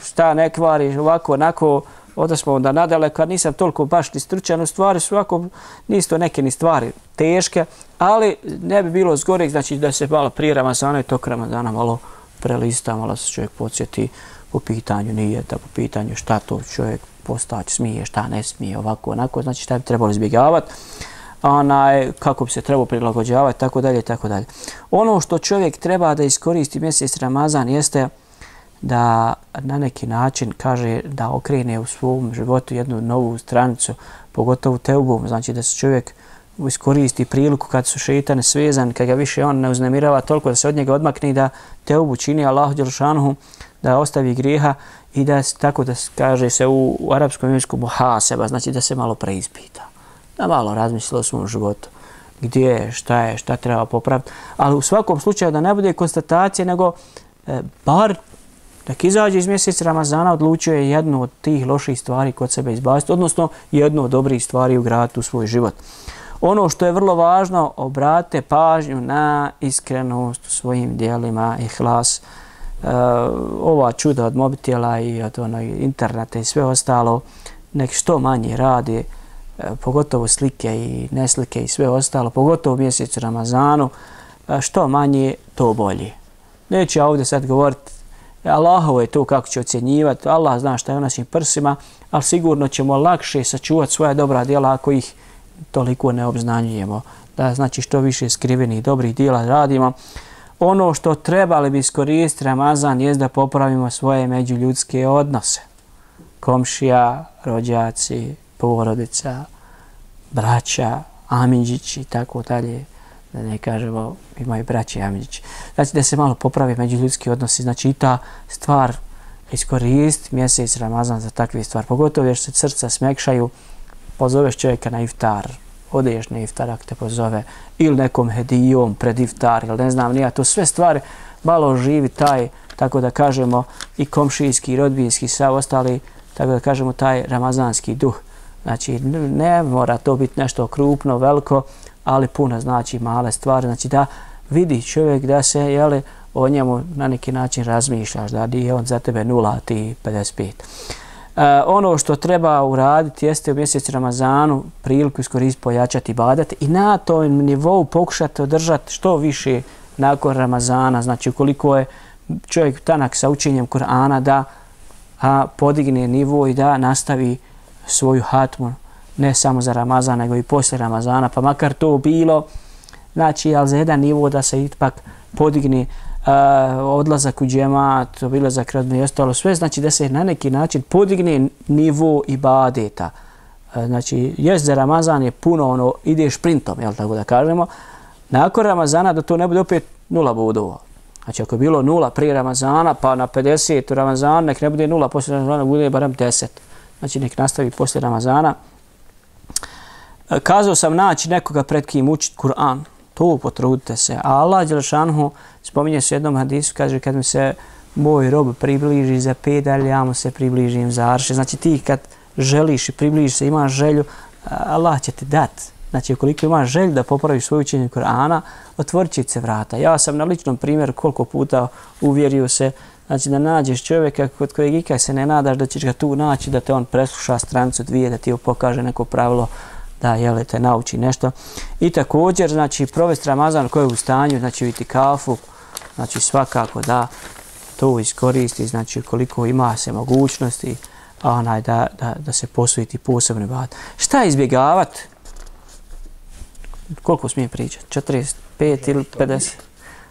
šta ne kvari, ovako, onako, onda smo onda nadaleko, nisam toliko baš ni stručan, u stvari su ovako, nisu to neke ni stvari teške, ali ne bi bilo zgorek, znači da se malo prije Ramazana i tog Ramazana malo prelista, malo se čovjek podsjeti po pitanju nijeta, po pitanju šta to čovjek postać smije, šta ne smije, ovako, onako, znači šta bi trebalo izbjegavati, onaj, kako bi se trebalo prilagođavati, tako dalje, tako dalje. Ono što čovjek treba da iskoristi mjesec Ramazan jeste da na neki način kaže da okrene u svom životu jednu novu stranicu, pogotovo teubom, znači da se čovjek iskoristi priliku kad su šeitani svezan, kad ga više on ne uznemirava toliko da se od njega odmakne i da teubu čini Allahu dželšanuhu, da ostavi grijeha i da tako da kaže se u, u arapskom jeziku muhaseba, znači da se malo preispita, da malo razmisli o svom životu, gdje je, šta je, šta treba popraviti, ali u svakom slučaju da ne bude konstatacije, nego e, bar dok izađe iz mjeseca Ramazana odlučio je jednu od tih loših stvari kod sebe izbaciti, odnosno jednu od dobrih stvari ugraditi u svoj život. Ono što je vrlo važno, obratite pažnju na iskrenost u svojim dijelima, ihlas, Uh, ova čuda od mobitela i od onog interneta i sve ostalo, nek što manje radi, uh, pogotovo slike i neslike i sve ostalo, pogotovo u mjesecu Ramazanu, uh, što manje, to bolje. Neću ja ovdje sad govoriti, Allahovo je to kako će ocjenjivati, Allah zna šta je u našim prsima, ali sigurno ćemo lakše sačuvati svoja dobra djela ako ih toliko ne obznanjujemo. Da, znači što više skrivenih dobrih djela radimo. Ono što trebali bi iskoristiti Ramazan je da popravimo svoje međuljudske odnose. Komšija, rođaci, porodica, braća, amidžići i tako dalje. Da ne kažemo imaju braće i amidžići. Znači da se malo popravi međuljudski odnosi. Znači i ta stvar iskoristiti mjesec Ramazan za takve stvari. Pogotovo jer se srca smekšaju, pozoveš čovjeka na iftar, odeš na iftar ako te pozove, ili nekom hedijom pred iftar, ili ne znam nija, to sve stvari malo živi taj, tako da kažemo, i komšijski, i rodbinski, sav ostali, tako da kažemo, taj ramazanski duh. Znači, ne mora to biti nešto krupno, veliko, ali puno znači male stvari. Znači da vidi čovjek da se, jeli, o njemu na neki način razmišljaš, da je on za tebe nula, ti pedeset pet. Uh, ono što treba uraditi jeste u mjesecu Ramazanu priliku iskoristiti, pojačati ibadet i na tom nivou pokušati održati što više nakon Ramazana. Znači ukoliko je čovjek tanak sa učenjem Kur'ana da a, podigne nivo i da nastavi svoju hatmu ne samo za Ramazan nego i poslije Ramazana, pa makar to bilo, znači ali za jedan nivo da se ipak podigne Uh, odlazak u džemat, obilazak rodbine i ostalo sve, znači da se na neki način podigne nivo ibadeta. Uh, znači, jest za Ramazan je puno ono, ide šprintom, jel tako da kažemo. Nakon Ramazana da to ne bude opet nula bodova. Znači ako je bilo nula prije Ramazana, pa na pedeset u Ramazana, nek ne bude nula poslije Ramazana, bude barem deset. Znači nek nastavi poslije Ramazana. Kazao sam naći nekoga pred kim učiti Kur'an. To potrudite se. A Allah dželešanuhu spominje se u jednom hadisu, kaže kad mi se moj rob približi za pedalj, ja mu se približim za arše. Znači ti kad želiš i približiš se, imaš želju, Allah će ti dati. Znači ukoliko imaš želju da popraviš svoje učenje Kur'ana, otvorit će se vrata. Ja sam na ličnom primjeru koliko puta uvjerio se, znači da nađeš čovjeka kod kojeg ikak se ne nadaš da ćeš ga tu naći, da te on presluša stranicu dvije, da ti pokaže neko pravilo, da jele, te nauči nešto. I također, znači, provesti Ramazan koji je u stanju, znači u itikafu, znači svakako da to iskoristi, znači koliko ima se mogućnosti, onaj, da, da, da se posveti posebno ibadet. Šta izbjegavati? Koliko smijem pričati? četrdeset pet ili pedeset?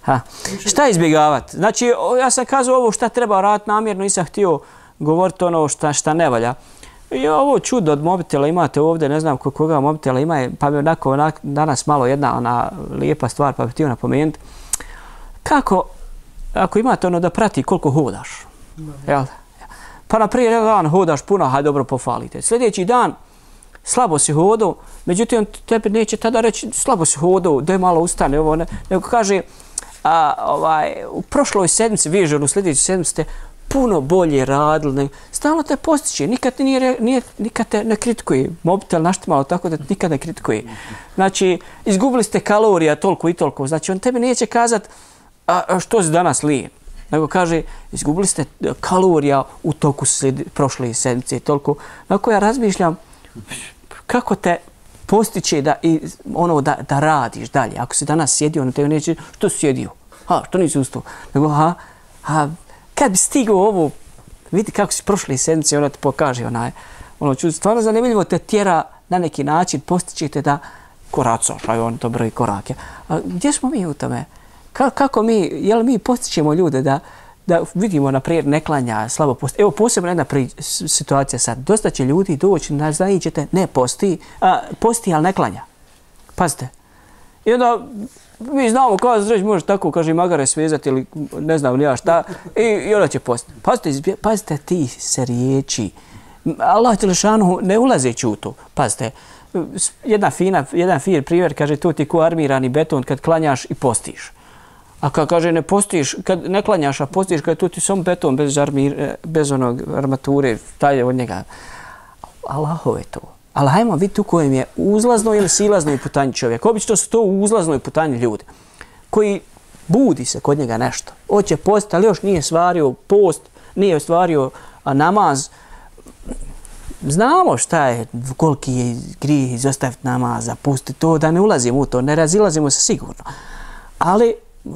Ha. Šta izbjegavati? Znači, ja sam kazao ovo šta treba raditi namjerno, nisam htio govoriti ono šta, šta ne valja. I ovo čudo od mobitela imate ovdje, ne znam koga mobitela ima, pa mi onako onak, danas malo jedna ona lijepa stvar, pa bih htio napomenuti. Kako, ako imate ono da prati koliko hodaš, jel? Pa na prije dan hodaš puno, hajde dobro pofalite. Sljedeći dan slabo si hodao, međutim tebi neće tada reći slabo si hodao, daj malo ustane, ovo ne, nego kaže a, ovaj, u prošloj sedmici, vidiš, u sljedećoj sedmici ste puno bolje radili, stalno te postiče, nikad, nije, nije, nikad te ne kritikuje, mobitel naštimalo tako da nikad ne kritikuje. Znači, izgubili ste kalorija toliko i toliko, znači on tebi neće kazati a, što si danas lijen, nego kaže izgubili ste kalorija u toku slijed, prošle sedmice toliko. Nakon ja razmišljam kako te postiče da, i, ono, da, da radiš dalje. Ako si danas sjedio, na tebi neće, što si sjedio? Ha, što nisi ustao? Nego, ha, ha, kad bi stigao ovo, vidi kako si prošle sedmice, ona te pokaže, onaj, ono, ču, stvarno zanimljivo te tjera na neki način, postičete da koracaš, aj on to broji korake. A gdje smo mi u tome? Ka, kako mi, jel mi postičemo ljude da, da vidimo, naprijed, ne klanja, slabo posti. Evo, posebno jedna pri, situacija sad. Dosta će ljudi doći, naznajićete, ne posti, a, posti, ali ne klanja. Pazite. I onda mi znamo kao da može tako, kaže, magare svezati ili ne znam ni ja šta, i, i onda će postiti. Pazite, pazite ti se riječi. Allah dželešanu ne ulazeći u to. Pazite, jedna fina, jedan fin primjer, kaže, to ti ko armirani beton kad klanjaš i postiš. A kad kaže ne postiš, kad ne klanjaš, a postiš, kad tu ti samo beton bez, armir, bez onog armature, taj je od njega. Allahov je to. Ali hajmo vidjeti u kojem je uzlaznoj ili silaznoj putanji čovjek. Obično su to u uzlaznoj putanji ljudi koji budi se kod njega nešto. Hoće post, ali još nije stvario post, nije stvario namaz. Znamo šta je, koliki je grijeh izostaviti namaza, pusti to, da ne ulazimo u to, ne razilazimo se sigurno. Ali,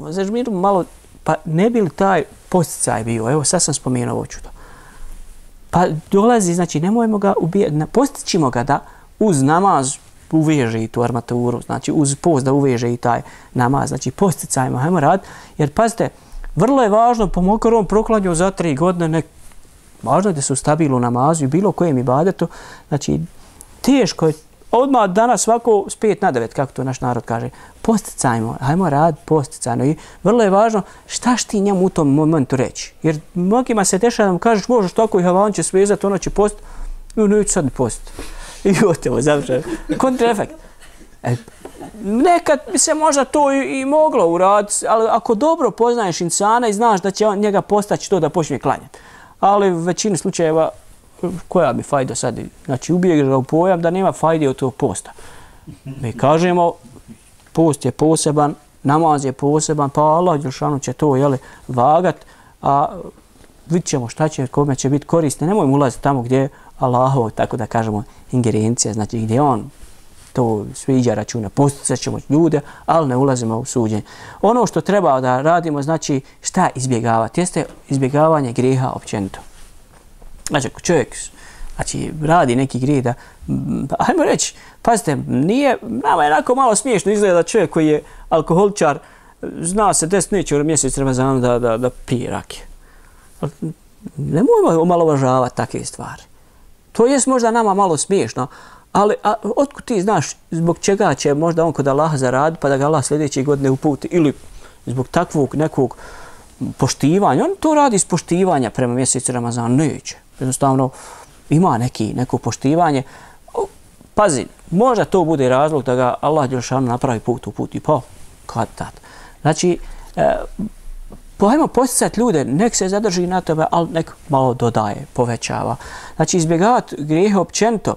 znači, malo, pa ne bi li taj posticaj bio, evo sad sam spomenuo ovo čudo. Pa dolazi, znači nemojmo ga ubijati, postićimo ga da uz namaz uveže i tu armaturu, znači uz post da uveže i taj namaz, znači posticajmo, hajmo raditi, jer pazite, vrlo je važno, pa makar on proklanjao za tri godine, nek, važno je da su stabilni u namazu i bilo kojem ibadetu, znači teško je, odmah danas svako s pet na devet, kako to naš narod kaže, posticajmo, hajmo raditi posticajno i vrlo je važno šta ti njemu u tom momentu reći. Jer mnogima se dešava da mu kažeš možeš tako i havan će svezati, ono će post, i neću sad ni post. I gotovo, završeno. Kontraefekt. E, nekad bi se možda to i, i moglo uraditi, ali ako dobro poznaješ insana i znaš da će on njega postaći to da počne klanjati. Ali u većini slučajeva koja bi fajda sad? Znači ubiješ ga u pojam da nema fajde od tog posta. Mi kažemo post je poseban, namaz je poseban, pa Allah dželešanu će to jeli, vagat, a vidit ćemo šta će, kome će biti korisno. Nemojmo ulaziti tamo gdje je Allahov, tako da kažemo, ingerencija, znači gdje on to sviđa računa, posticat ćemo ljude, ali ne ulazimo u suđenje. Ono što treba da radimo, znači šta izbjegavati, jeste izbjegavanje grijeha općenito. Znači, ako čovjek znači, radi neki grijeh da, ajmo reći, pazite, nije, nama je onako malo smiješno izgleda čovjek koji je alkoholičar, zna se deset neće u mjesec Ramazana da, da, da pije rakije. Nemojmo omalovažavati takve stvari. To je možda nama malo smiješno, ali a, otkud ti znaš zbog čega će možda on kod Allaha zaraditi pa da ga Allah sljedeće godine uputi ili zbog takvog nekog poštivanja. On to radi iz poštivanja prema mjesecu Ramazana. Neće. Jednostavno ima neki, neko poštivanje. Pazi, možda to bude razlog da ga Allah dželešanu napravi put u put i pa kad tad. Znači, e, hajmo posticati ljude, nek se zadrži na tebe, ali nek malo dodaje, povećava. Znači, izbjegavati grijehe općenito.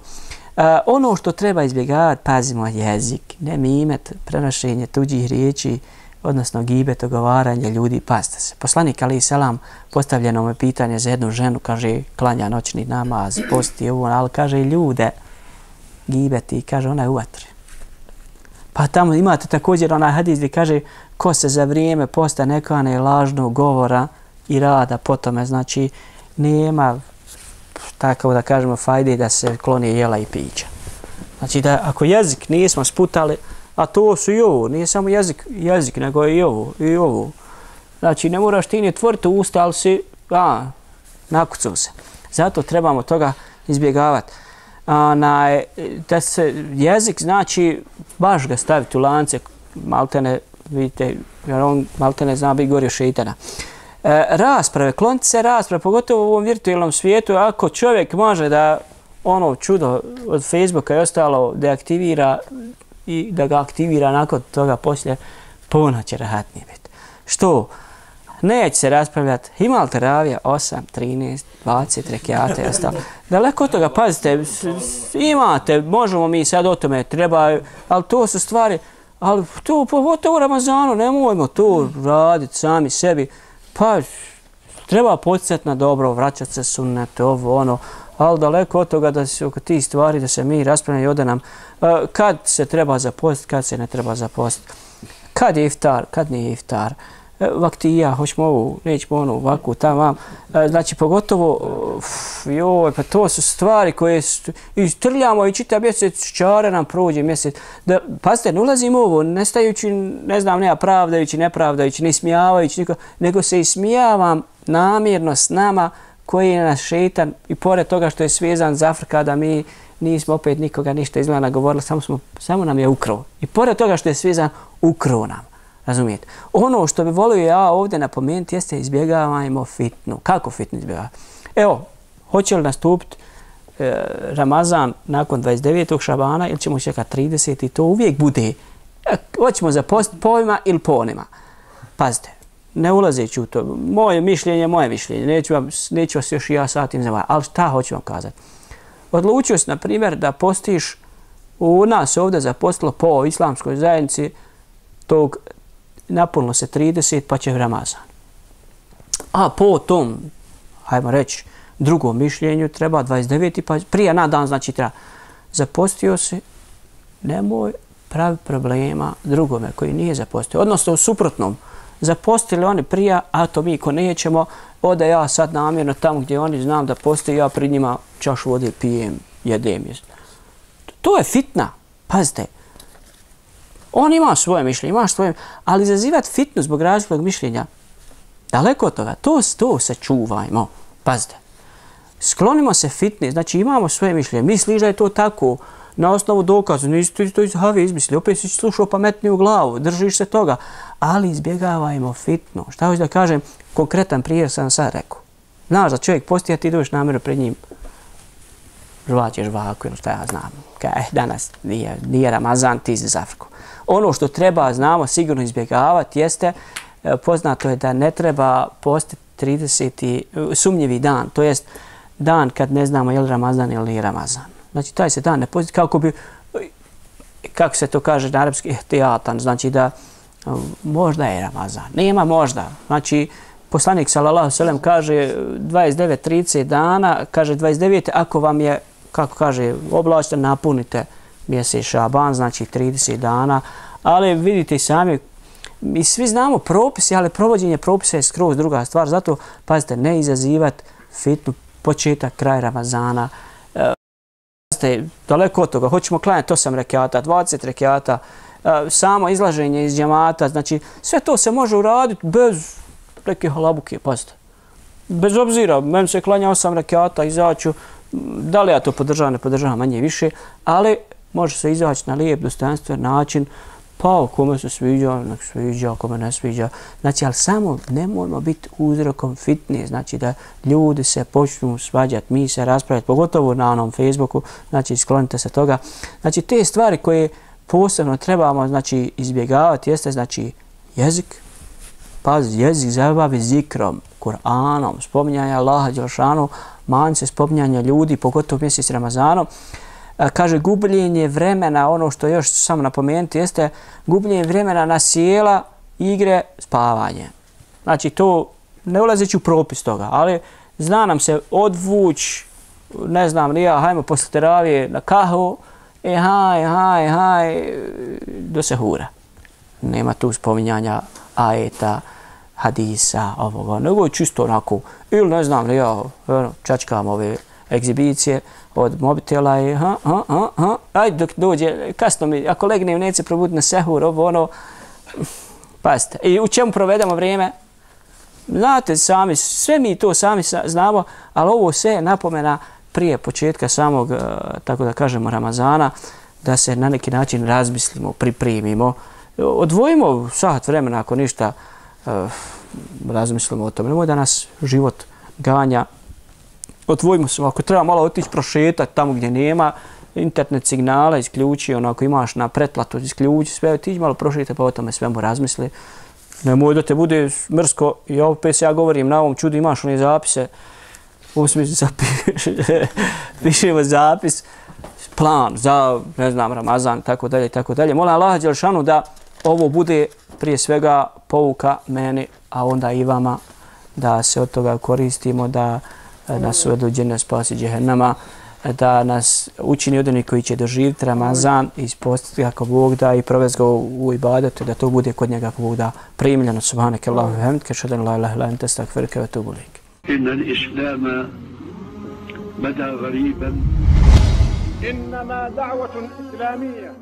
E, ono što treba izbjegavati, pazimo, jezik, ne mimet, prenošenje tuđih riječi, odnosno gibet, ogovaranje ljudi, pazite se. Poslanik alejhi selam postavljeno mu je pitanje za jednu ženu, kaže, klanja noćni namaz, posti ovo, ali kaže ljude, gibeti, kaže, ona je u vatri. Pa tamo imate također onaj hadis gdje kaže, ko se za vrijeme posta ne kane lažnog govora i rada po tome, znači nema, tako da kažemo, fajde da se kloni jela i pića. Znači da ako jezik nismo sputali, a to su i ovo, nije samo jezik, jezik, nego i ovo, i ovo. Znači ne moraš ti ni otvoriti usta, ali si, a, nakucao se. Zato trebamo toga izbjegavati. Na, da se jezik znači baš ga staviti u lance, maltene, vidite, jer on maltene zna biti gori od šeitana. E, rasprave, kloniti se rasprave, pogotovo u ovom virtualnom svijetu, ako čovjek može da ono čudo od Facebooka i ostalo deaktivira i da ga aktivira nakon toga poslije, puno će rahatnije biti. Što? Neće se raspravljati, ima li teravija osam, trinaest, dvadeset rekiata i ostalo. Daleko od toga, pazite, imate, možemo mi sad o tome, treba, ali to su stvari, ali to, pogotovo u Ramazanu, nemojmo to raditi sami sebi. Pa, treba podsjeti na dobro, vraćati se sunnete, ovo, ono, ali daleko od toga da se oko tih stvari, da se mi raspravljamo i ode nam, kad se treba zapostiti, kad se ne treba zapostiti. Kad je iftar, kad nije iftar. Vaktija, hoćemo ovu, nećemo onu, ovakvu, tamo, znači pogotovo, joj, pa to su stvari koje istrljamo i čita mjesec, čare nam prođe mjesec. Da, pazite, ne ulazimo u ovo, nestajući, ne znam, nema pravdajući, nepravdajući, ne smijavajući niko, nego se ismijavam namjerno s nama koji je naš šeitan i pored toga što je svezan za Afrika da mi nismo opet nikoga ništa izgleda govorili, samo, smo, samo nam je ukrao. I pored toga što je svezan, ukrao nam. Razumijete? Ono što bi volio ja ovdje napomenuti jeste izbjegavajmo fitnu. Kako fitnu izbjegavati? Evo, hoće li nastupiti e, Ramazan nakon dvadeset devetog šabana ili ćemo čekati trideset i to uvijek bude. E, hoćemo zapostiti po ovima ili po onima. Pazite, ne ulazeći u to. Moje mišljenje, moje mišljenje. Neću, vam, neću vas još i ja satim zavajati. Ali šta hoću vam kazati? Odlučio si, na primjer, da postiš u nas ovdje zapostilo po islamskoj zajednici tog napunilo se trideset pa će Ramazan. A po tom, hajmo reći, drugom mišljenju treba dvadeset devet pa prije na dan, znači treba. Zapostio se, nemoj pravi problema drugome koji nije zapostio. Odnosno u suprotnom, zapostili oni prije, a to mi ko nećemo, ode ja sad namjerno tamo gdje oni znam da postoji, ja pred njima čašu vode pijem, jedem. To je fitna, pazite. On ima svoje mišljenje, ima svoje, ali izazivati fitnu zbog različitog mišljenja, daleko od toga, to, to se čuvajmo, pazite. Sklonimo se fitni, znači imamo svoje mišljenje, misliš da je to tako, na osnovu dokaza, nisi to, to iz Have izmisli, opet si slušao pametniju glavu, držiš se toga, ali izbjegavajmo fitnu. Šta hoću da kažem, konkretan primjer sam sad rekao. Znaš da čovjek posti, a ti dođeš namjeru pred njim, žvaćeš žvaku ili šta ja znam, kaj, eh, danas nije, nije Ramazan, ti si za Afriku. Ono što treba, znamo, sigurno izbjegavati jeste, poznato je da ne treba postiti trideseti sumnjivi dan, to jest dan kad ne znamo je li Ramazan ili nije Ramazan. Znači, taj se dan ne postiti kako bi, kako se to kaže na arapski, ihtijatan, znači da možda je Ramazan. Nema možda. Znači, poslanik sallallahu alejhi ve sellem kaže dvadeset devet trideset dana, kaže dvadeset devet ako vam je, kako kaže, oblačite, napunite mjesec Šaban, znači trideset dana, ali vidite sami, mi svi znamo propisi, ali provođenje propisa je skroz druga stvar, zato pazite, ne izazivati fitnu početak, kraj Ramazana. E, pazite, daleko od toga, hoćemo klanjati osam rekiata, dvadeset rekiata, e, samo izlaženje iz džemata, znači sve to se može uraditi bez neke halabuke, pazite. Bez obzira, meni se klanja osam rekiata, izaću, da li ja to podržavam, ne podržavam manje više, ali može se izaći na lijep, dostojanstven način, Pa kome se sviđa, nek sviđa, kome ne sviđa. Znači, ali samo nemojmo biti uzrokom fitne, znači da ljudi se počnu svađati, mi se raspravljati, pogotovo na onom Facebooku, znači sklonite se toga. Znači, te stvari koje posebno trebamo znači, izbjegavati jeste znači jezik, pazi, jezik zabavi zikrom, Kur'anom, spominjanje Allaha dželešanu, manj se spominjanje ljudi, pogotovo mjesec Ramazanom. Kaže, gubljenje vremena, ono što još samo napomenuti, jeste gubljenje vremena na sjela, igre, spavanje. Znači, to ne ulazeći u propis toga, ali zna nam se odvuć, ne znam, nija, hajmo posle teravije na kahvu, e haj, haj, haj, do sehura. Nema tu spominjanja ajeta, hadisa, ovoga, nego je čisto onako, ili ne znam, ja čačkam ove egzibicije od mobitela i ha, ha, ha, ha, ajde dok dođe, kasno mi, ako legnem neće probuditi na sehur, ovo ono, pazite. I u čemu provedemo vrijeme? Znate sami, sve mi to sami znamo, ali ovo sve je napomena prije početka samog, tako da kažemo, Ramazana, da se na neki način razmislimo, pripremimo, odvojimo sat vremena ako ništa, razmislimo o tome. Nemoj da nas život ganja. Odvojimo se, ako treba malo otići prošetati tamo gdje nema, internet signala isključi, onako imaš na pretplatu, isključi sve, otići malo prošetati pa o tome svemu razmisli. Nemoj da te bude mrsko, i opet se ja govorim na ovom čudu, imaš one zapise, u smislu zapiše, pišemo zapis, plan za, ne znam, Ramazan, tako dalje, tako dalje. Molim Allaha dželešanu da ovo bude prije svega pouka meni, a onda i vama, da se od toga koristimo, da nas uvedu u džennet, spasi džehennama, da nas učini od onih koji će doživjeti Ramazan i ispostiti kako Bog da i provesti ga u ibadetu, da to bude kod njega kako Bog da primljeno. Subhaneke Allahu ve hamdike, ashhadu an la ilaha illa anta, astaghfiruka wa atubu ilaik. Inna al-islama bada ghariban. إنما دعوة إسلامية